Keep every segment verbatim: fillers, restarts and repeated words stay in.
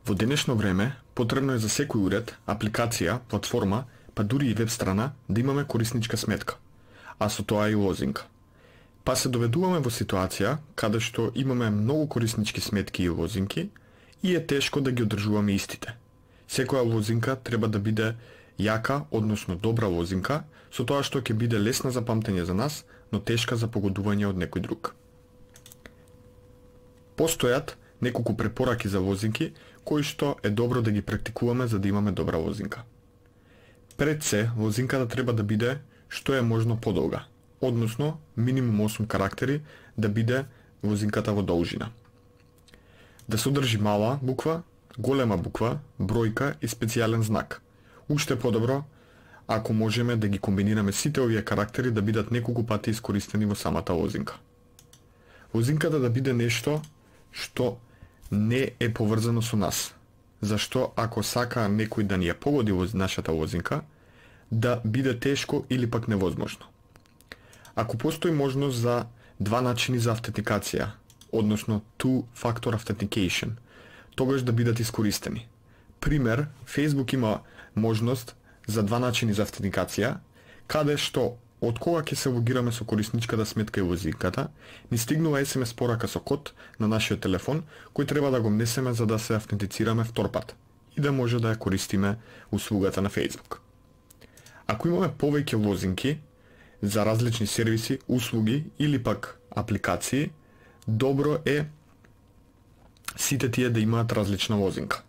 Во денешно време, потребно е за секој уред, апликација, платформа, па дури и веб страна, да имаме корисничка сметка, а со тоа и лозинка. Па се доведуваме во ситуација каде што имаме многу кориснички сметки и лозинки и е тешко да ги одржуваме истите. Секоја лозинка треба да биде јака, односно добра лозинка, со тоа што ќе биде лесна за памтење за нас, но тешка за погодување од некој друг. Постојат неколку препораки за лозинки, кои што е добро да ги практикуваме за да имаме добра лозинка. Пред се, лозинката треба да биде што е можно подолга, односно минимум осум карактери да биде лозинката во должина. Да содржи мала буква, голема буква, бројка и специјален знак. Уште подобро, ако можеме да ги комбинираме сите овие карактери да бидат неколку пати искористени во самата лозинка. Лозинката да биде нешто што не е поврзано со нас. Зашто ако сака некој да ни ја погоди во нашата лозинка, да биде тешко или пак невозможно. Ако постои можност за два начини за автентикација, односно two-factor authentication, тогаш да бидат искористени. Пример, Facebook има можност за два начини за автентикација, каде што од кога ќе се логираме со корисничката сметка и лозинката, ни стигнува ес ем ес порака со код на нашиот телефон, кој треба да го внесеме за да се автентицираме втор пат и да може да ја користиме услугата на Facebook. Ако имаме повеќе лозинки за различни сервиси, услуги или пак апликации, добро е сите тие да имаат различна лозинка.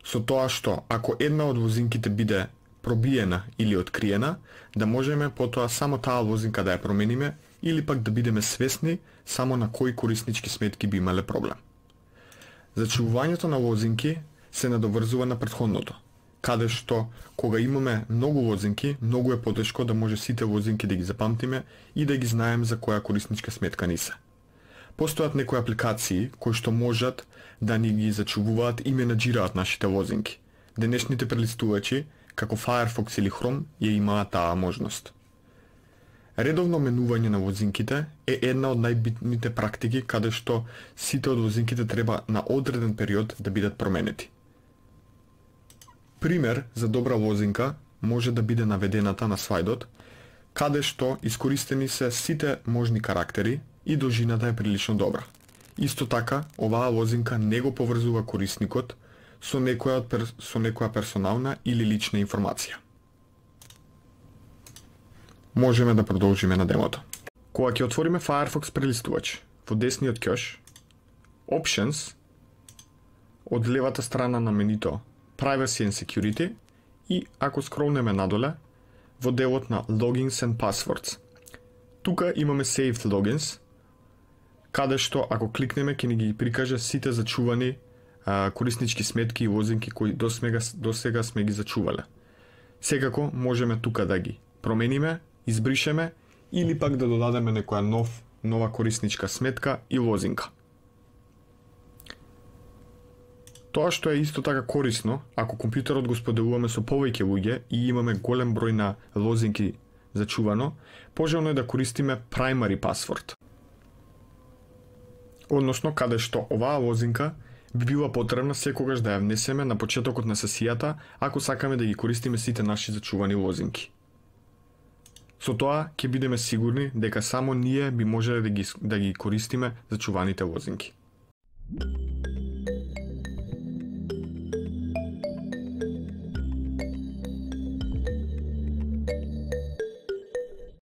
Со тоа што ако една од лозинките биде пробиена или откриена, да можеме потоа само таа лозинка да ја промениме или пак да бидеме свесни само на кои кориснички сметки би имале проблем. Зачувувањето на лозинки се надоврзува на претходното, каде што кога имаме многу лозинки, многу е потешко да може сите лозинки да ги запамтиме и да ги знаеме за која корисничка сметка ни се. Постојат некои апликации кои што можат да ни ги зачувуваат и менаџираат нашите лозинки. Денешните прелистувачи, како Firefox или Chrome, ја имаат таа можност. Редовно менување на лозинките е една од најбитните практики каде што сите од лозинките треба на одреден период да бидат променети. Пример за добра лозинка може да биде наведената на слайдот, каде што искористени се сите можни карактери и должината е прилично добра. Исто така, оваа лозинка не го поврзува корисникот со некоја, пер... со некоја персонална или лична информација. Можеме да продолжиме на демото. Кога ќе отвориме Firefox прелистувач, во десниот ќош, Options, од левата страна на менито Privacy and Security и ако скролнеме надоле, во делот на Logins and Passwords. Тука имаме Saved Logins, каде што ако кликнеме ќе ни ги прикаже сите зачувани а, кориснички сметки и лозинки кои досега, досега сме ги зачувале. Секако можеме тука да ги промениме, избришеме или пак да додадеме некоја нов, нова корисничка сметка и лозинка. Тоа што е исто така корисно, ако компјутерот го споделуваме со повеќе луѓе и имаме голем број на лозинки зачувано, пожелно е да користиме primary password. Односно, каде што оваа лозинка би била потребна секогаш да ја внесеме на почетокот на сесијата, ако сакаме да ги користиме сите наши зачувани лозинки. Со тоа ќе бидеме сигурни дека само ние би можеле да ги, да ги користиме зачуваните лозинки.